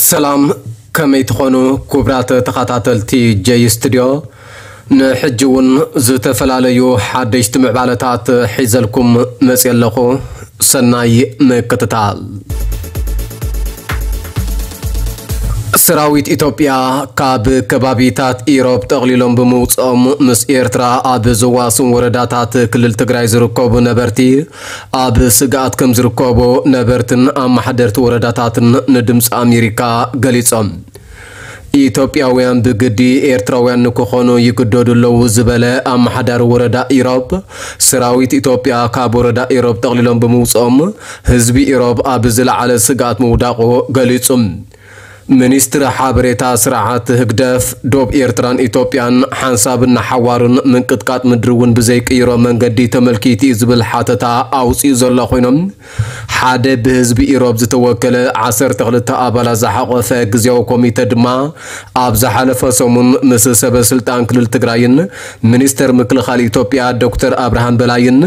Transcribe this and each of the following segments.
ሰላም፣ ከመይ ትኾኑ ክቡራት ተኸታተልቲ ጀይ ስቱድዮ? ንሕጂ እውን ዝተፈላለዩ ሓደሽቲ ምዕባለታት ሒዘልኩም መፅየ ኣለኹ። ሰናይ ምክትታል። ሰራዊት ኢትዮጵያ ካብ ከባቢታት ኢሮብ ጠቕሊሎም ብምውፅኦም ምስ ኤርትራ ኣብ ዘዋስን ወረዳታት ክልል ትግራይ ዝርከቡ ነበርቲ ኣብ ስግኣት ከም ዝርከቡ ነበርትን ኣመሓደርቲ ወረዳታትን ንድምፂ ኣሜሪካ ገሊጾም። ኢትዮጵያውያን ብግዲ ኤርትራውያን ንክኾኑ ይግደዱ ኣለዉ ዝበለ ኣመሓዳሪ ወረዳ ኢሮብ፣ ሰራዊት ኢትዮጵያ ካብ ወረዳ ኢሮብ ጠቕሊሎም ብምውፅኦም ህዝቢ ኢሮብ ኣብ ዝለዓለ ስግኣት ምውዳቑ ገሊጹ። ሚኒስትሪ ሓበሬታ ስርዓት ህግደፍ፣ ዶብ ኤርትራን ኢትዮጵያን ሓንሳብን ንሓዋሩን ምንቅጥቃጥ ምድሪ እውን ብዘይቅይሮ መንገዲ ተመልኪቱ እዩ ዝብል ሓተታ ኣውፂኡ ዘሎ ኮይኖም፣ ሓደ ብህዝቢ ኢሮብ ዝተወከለ ዓሰርተ ክልተ ኣባላት ዝሓቖፈ ግዝያዊ ኮሚተ ድማ ኣብ ዝሓለፈ ሰሙን ምስ ሰበ ስልጣን ክልል ትግራይን ሚኒስተር ምክልኻል ኢትዮጵያ ዶክተር ኣብርሃም በላይን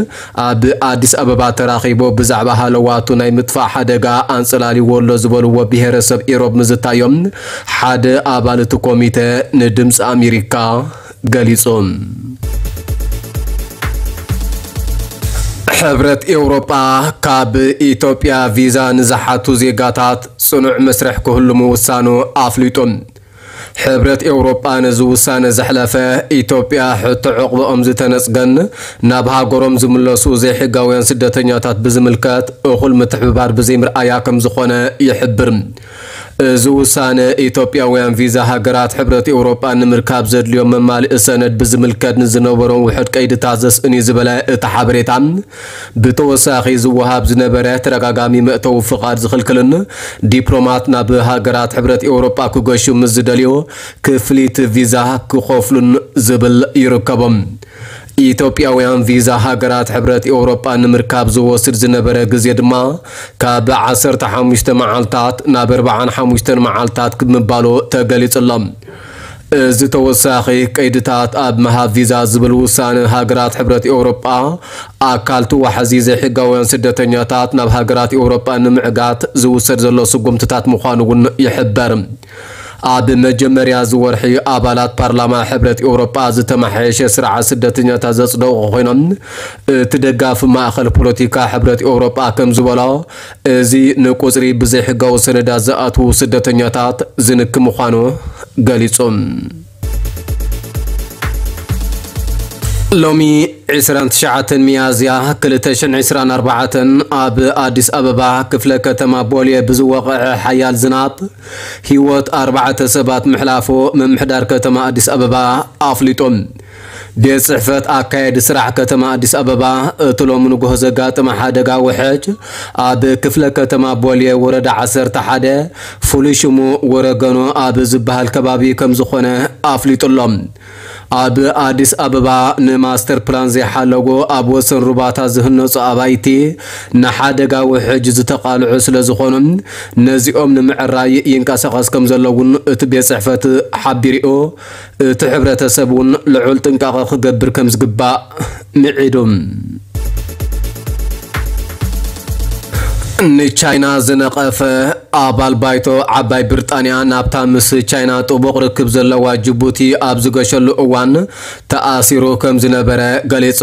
ኣብ ኣዲስ ኣበባ ተራኺቡ ብዛዕባ ሃለዋቱ ናይ ምጥፋእ ሓደጋ ኣንጸላልይዎ ኣሎ ዝበልዎ ብሄረሰብ ኢሮብ ምዝታዮም ሓደ ኣባል እቲ ኮሚተ ንድምፂ ኣሜሪካ ገሊጹ። ሕብረት ኤውሮጳ ካብ ኢትዮጵያ ቪዛ ንዝሓቱ ዜጋታት ጽኑዕ መስርሕ ክህሉ ምውሳኑ ኣፍሊጡ። ሕብረት ኤውሮጳ ነዚ ውሳነ ዘሕለፈ፣ ኢትዮጵያ ሕቶ ዕቑባኦም ዝተነጽገን ናብ ሃገሮም ዝምለሱ ዘይሕጋውያን ስደተኛታት ብዝምልከት እኹል ምትሕብባር ብዘይምርኣያ ከም ዝኾነ ይሕብር። እዚ ውሳነ፣ ኢትዮጵያውያን ቪዛ ሃገራት ሕብረት ኤውሮጳ ንምርካብ ዘድልዮም መማልኢ ሰነድ ብዝምልከት ንዝነበሮም ውሑድ ቀይድታት ዘስእን እዩ ዝበለ እቲ ሓበሬታ፣ ብተወሳኺ ዝወሃብ ዝነበረ ተደጋጋሚ መእተዊ ፍቓድ ዝኽልክልን ዲፕሎማት ናብ ሃገራት ሕብረት ኤውሮጳ ክገሹ ምስ ዝደልዩ ክፍሊት ቪዛ ክኸፍሉን ዝብል ይርከቦም። ኢትዮጵያውያን ቪዛ ሃገራት ሕብረት ኤውሮጳ ንምርካብ ዝወስድ ዝነበረ ግዜ ድማ ካብ ዓሰርተ ሓሙሽተ መዓልታት ናብ ኣርባዓን ሓሙሽተን መዓልታት ብምባሉ ተገሊጹ ኣሎ። እዚ ተወሳኺ ቀይድታት ኣብ ምሃብ ቪዛ ዝብል ውሳነ ሃገራት ሕብረት ኤውሮጳ ኣካል እቲ ዋሕዚ ዘይሕጋውያን ስደተኛታት ናብ ሃገራት ኤውሮጳ ንምዕጋት ዝውሰድ ዘሎ ስጉምትታት ምዃኑ እውን ይሕበር። ኣብ መጀመርያ እዚ ወርሒ ኣባላት ፓርላማ ሕብረት ኤውሮጳ ዝተመሓየሸ ስርዓት ስደተኛታት ዘጽደቑ ኮይኖም፣ እቲ ደጋፊ ማእከል ፖለቲካ ሕብረት ኤውሮጳ ከም ዝበሎ፣ እዚ ንቁጽሪ ብዘይሕጋዊ ሰነዳት ዝኣትዉ ስደተኛታት ዝንኪ ምዃኑ ገሊጹ። ሎሚ ዕስራን ትሽዓተን ሚያዝያ ክልተ ሽሕን ዕስራን ኣርባዕተን ኣብ ኣዲስ ኣበባ ክፍለ ከተማ ቦሌ ብዝወቐዐ ሓያል ዝናብ ህይወት ኣርባዕተ ሰባት ምሕላፉ ምምሕዳር ከተማ ኣዲስ ኣበባ ኣፍሊጡ። ቤት ጽሕፈት ኣካየዲ ስራሕ ከተማ ኣዲስ ኣበባ እቲ ሎሚ ንግሆ ዘጋጠመ ሓደጋ ውሕጅ ኣብ ክፍለ ከተማ ቦሌ ወረዳ ዓሰርተ ሓደ ፍሉይ ሽሙ ወረገኖ ኣብ ዝበሃል ከባቢ ከም ዝኾነ ኣፍሊጡ ኣሎ። ኣብ ኣዲስ ኣበባ ንማስተር ፕላን ዘይሓለጎ ኣብ ወሰን ሩባታት ዝህነጹ ኣባይቲ ንሓደጋ ውሕጅ ዝተቓልዑ ስለ ዝኾኑ ነዚኦም ንምዕራይ ይንቀሳቐስ ከም ዘሎ እውን እቲ ቤት ጽሕፈት ሓቢሩ። እቲ ሕብረተሰብ እውን ልዑል ጥንቃቐ ክገብር ከም ዝግባእ ምዒዱ። ንቻይና ዝነቐፈ ኣባል ባይቶ ዓባይ ብሪጣንያ ናብታ ምስ ቻይና ጥቡቕ ርክብ ዘለዋ ጅቡቲ ኣብ ዝገሸሉ እዋን ተኣሲሩ ከም ዝነበረ ገሊጹ።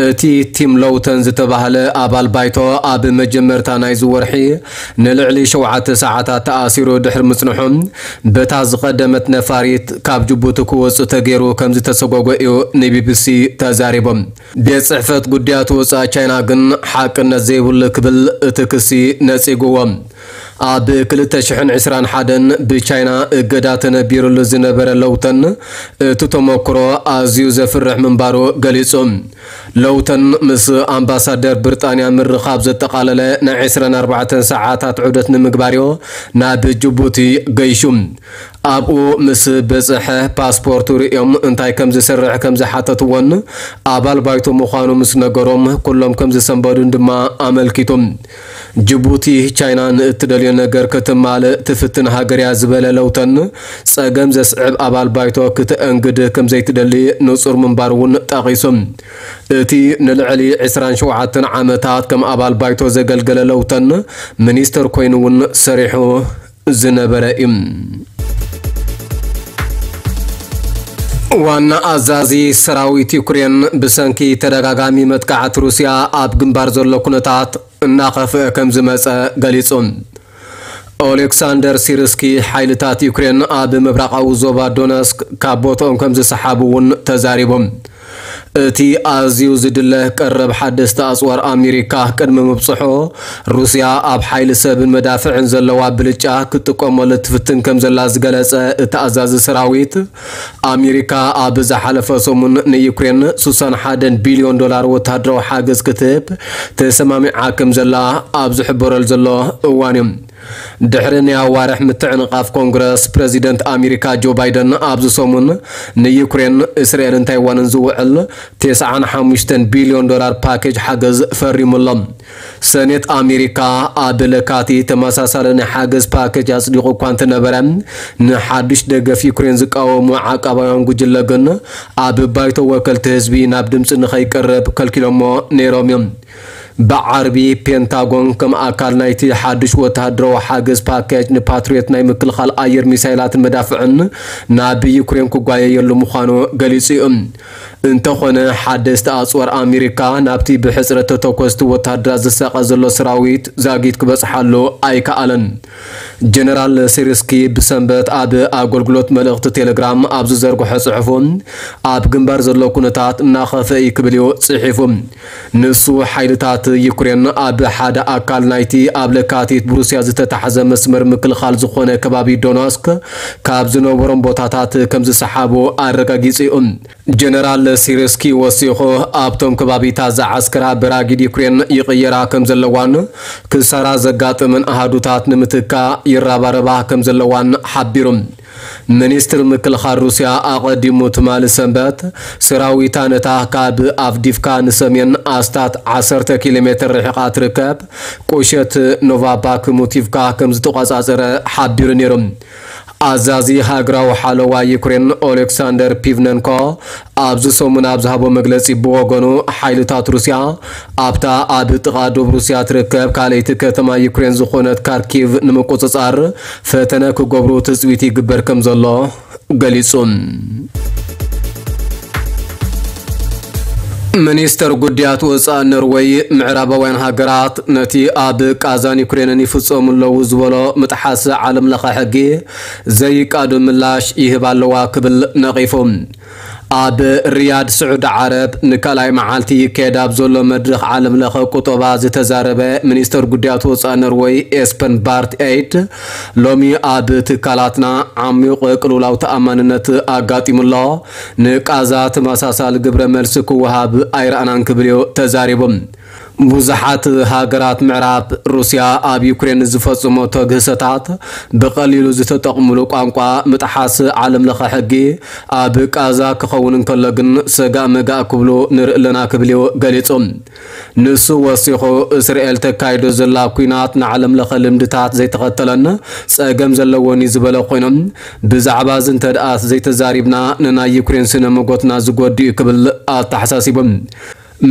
እቲ ቲም ሎውተን ዝተባህለ ኣባል ባይቶ ኣብ መጀመርታ ናይዚ ወርሒ ንልዕሊ ሸውዓተ ሰዓታት ተኣሲሩ ድሕሪ ምጽንሑ፣ በታ ዝቐደመት ነፋሪት ካብ ጅቡቲ ክወጽእ ተገይሩ ከም ዝተሰጎጎ እዩ ንቢቢሲ ተዛሪቡ። ቤት ጽሕፈት ጉዳያት ወጻኢ ቻይና ግን ሓቅነት ዘይብሉ ክብል እቲ ክሲ ነጺግዎ። ኣብ ክልተ ሽሕን ዕስራን ሓደን ብቻይና እገዳ ተነቢሩሉ ዝነበረ ሎውተን እቲ ተመክሮ ኣዝዩ ዘፍርሕ ምንባሩ ገሊጹ። ሎውተን ምስ ኣምባሳደር ብሪጣንያ ምርኻብ ዘጠቓለለ ናይ ዕስራን ኣርባዕተን ሰዓታት ዑደት ንምግባር እዩ ናብ ጅቡቲ ገይሹ። ኣብኡ ምስ በጽሐ ፓስፖርቱ ርእዮም እንታይ ከም ዝሰርሕ ከም ዝሓተትዎን ኣባል ባይቶ ምዃኑ ምስ ነገሮም ኩሎም ከም ዝሰንበዱን ድማ ኣመልኪቱ። ጅቡቲ ቻይና ንእትደልዮ ነገር ክትማልእ ትፍትን ሃገር እያ ዝበለ ሎውተን፣ ጸገም ዘስዕብ ኣባል ባይቶ ክተአንግድ ከም ዘይትደሊ ንጹር ምንባሩ እውን ጠቒሱ። እቲ ንልዕሊ ዕስራን ሸውዓተን ዓመታት ከም ኣባል ባይቶ ዘገልገለ ሎውተን ሚኒስተር ኮይኑ እውን ሰሪሑ ዝነበረ እዩ። ዋና ኣዛዚ ሰራዊት ዩክሬን ብሰንኪ ተደጋጋሚ መጥቃዕቲ ሩስያ ኣብ ግንባር ዘሎ ኩነታት እናኸፍአ ከም ዝመጸ ገሊጹ። ኦሌክሳንደር ሲርስኪ ሓይልታት ዩክሬን ኣብ ምብራቓዊ ዞባ ዶነስክ ካብ ቦትኦም ከም ዝሰሓቡ እውን ተዛሪቦም። እቲ ኣዝዩ ዝድለ ቀረብ ሓደስቲ ኣጽዋር ኣሜሪካ ቅድሚ ምብጽሖ፣ ሩስያ ኣብ ሓይሊ ሰብን መዳፍዕን ዘለዋ ብልጫ ክትጥቀመሉ ትፍትን ከም ዘላ ዝገለጸ እቲ ኣዛዚ ሰራዊት፣ ኣሜሪካ ኣብ ዝሓለፈ ሰሙን ንዩክሬን ስሳን ሓደን ቢልዮን ዶላር ወተሃደራዊ ሓገዝ ክትህብ ተሰማሚዓ ከም ዘላ ኣብ ዝሕበረሉ ዘሎ እዋን እዩ። ድሕሪ ናይ ኣዋርሕ ምትዕንቓፍ ኮንግረስ፣ ፕረዚደንት ኣሜሪካ ጆ ባይደን ኣብዚ ሰሙን ንዩክሬን፣ እስራኤልን ታይዋንን ዝውዕል ተስዓን ሓሙሽተን ቢልዮን ዶላር ፓኬጅ ሓገዝ ፈሪሙ ኣሎ። ሰኔት ኣሜሪካ ኣብ ለካቲት ተመሳሳሊ ናይ ሓገዝ ፓኬጅ ኣጽዲቑ እኳ እንተነበረ፣ ንሓድሽ ደገፍ ዩክሬን ዝቃወሙ ዓቃባውያን ጉጅለ ግን ኣብ ባይቶ ወከልቲ ህዝቢ ናብ ድምጺ ንኸይቀርብ ከልኪሎሞ ነይሮም እዮም። ብዓርቢ ፔንታጎን ከም ኣካል ናይቲ ሓድሽ ወተሃደራዊ ሓገዝ ፓኬጅ ንፓትሪዮት ናይ ምክልኻል ኣየር ሚሳይላትን መዳፍዕን ናብ ዩክሬን ክጓየየሉ ምዃኑ ገሊጹ እዩ። እንተኾነ ሓደስቲ ኣጽዋር ኣሜሪካ ናብቲ ብሕጽረት ተተኮስቲ ወተሃደራት ዝሳቐ ዘሎ ሰራዊት ዛጊት ክበጽሓሉ ኣይከኣለን። ጀነራል ሲርስኪ ብሰንበት ኣብ ኣገልግሎት መልእኽቲ ቴሌግራም ኣብ ዝዘርግሖ ጽሑፉ፣ ኣብ ግንባር ዘሎ ኩነታት እናኸፍአ እዩ ክብል እዩ ጽሒፉ። ንሱ፣ ሓይልታት ዩክሬን ኣብ ሓደ ኣካል ናይቲ ኣብ ለካቲት ብሩስያ ዝተታሕዘ መስመር ምክልኻል ዝኾነ ከባቢ ዶነስክ ካብ ዝነበሮም ቦታታት ከም ዝሰሓቡ ኣረጋጊጹ እዩ። ጀነራል ሲርስኪ ወሲኹ፣ ኣብቶም ከባቢታት ዝዓስከራ በራጊድ ዩክሬን ይቕየራ ከም ዘለዋን ክሳራ ዘጋጥመን ኣሃዱታት ንምትካእ ይረባረባ ከም ዘለዋን ሓቢሩ። ሚኒስትር ምክልኻል ሩስያ ኣቐዲሙ ትማሊ ሰንበት፣ ሰራዊታ ነታ ካብ ኣቭዲቭካ ንሰሜን ኣስታት ዓሰርተ ኪሎ ሜትር ርሒቓ ትርከብ ቁሸት ኖቫ ባክሙቲቭካ ከም ዝተቖጻጸረ ሓቢሩ ነይሩ። ኣዛዚ ሃገራዊ ሓለዋ ዩክሬን ኦሌክሳንደር ፒቭነንኮ ኣብዚ ሰሙን ኣብ ዝሃቦ መግለጺ፣ ብወገኑ፣ ሓይልታት ሩስያ ኣብታ ኣብ ጥቓ ዶብ ሩስያ ትርከብ ካልኣይቲ ከተማ ዩክሬን ዝኾነት ካርኪቭ ንምቁጽጻር ፈተነ ክገብሩ ትጽቢት ይግበር ከም ዘሎ ገሊጹ። ሚኒስተር ጉዳያት ወጻኢ ኖርወይ፣ ምዕራባውያን ሃገራት ነቲ ኣብ ቃዛን ዩክሬንን ይፍጸሙ ኣለዉ ዝበሎ ምጥሓስ ዓለም ለኸ ሕጊ ዘይቃዶ ምላሽ ይህባ ኣለዋ ክብል ነቒፉ። ኣብ ሪያድ ስዑዲ ዓረብ ንካልኣይ መዓልቲ ይካየድ ኣብ ዘሎ መድረኽ ዓለም ለኸ ቁጠባ ዝተዛረበ ሚኒስተር ጉዳያት ወጻኢ ኖርወይ ኤስፐን ባርት ኤይድ፣ ሎሚ ኣብ ትካላትና ዓሚቕ ቅልውላው ተኣማንነት ኣጋጢሙ ኣሎ። ንቃዛ ተመሳሳሊ ግብረ መልሲ ክወሃብ ኣይረኣናን ክብል እዩ ተዛሪቡ። ብዙሓት ሃገራት ምዕራብ፣ ሩስያ ኣብ ዩክሬን ዝፈጽሞ ተግህሰታት ብቐሊሉ ዝተጠቕምሉ ቋንቋ ምጥሓስ ዓለም ለኸ ሕጊ ኣብ ቃዛ ክኸውን እንከሎ ግን ሰጋእ መጋእ ክብሉ ንርኢ ኣለና ክብል እዩ ገሊጹ። ንሱ ወሲኹ፣ እስራኤል ተካይዶ ዘላ ኲናት ንዓለም ለኸ ልምድታት ዘይተኸተለን ጸገም ዘለዎን እዩ ዝበለ ኮይኑ፣ ብዛዕባ እዚ እንተ ደኣ ዘይተዛሪብና ንናይ ዩክሬን ስነ መጎትና ዝጎድእ እዩ ክብል ኣተሓሳሲቡ።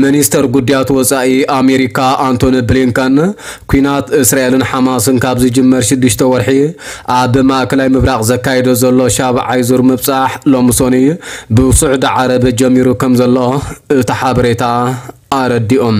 ሚኒስተር ጉዳያት ወጻኢ ኣሜሪካ ኣንቶኒ ብሊንከን፣ ኲናት እስራኤልን ሓማስን ካብ ዝጅመር ሽዱሽተ ወርሒ ኣብ ማእከላይ ምብራቕ ዘካይዶ ዘሎ ሻብዓይ ዙር ምብጻሕ ሎሚ ሰኑይ ብስዑዲ ዓረብ ጀሚሩ ከም ዘሎ እቲ ሓበሬታ ኣረዲኦም።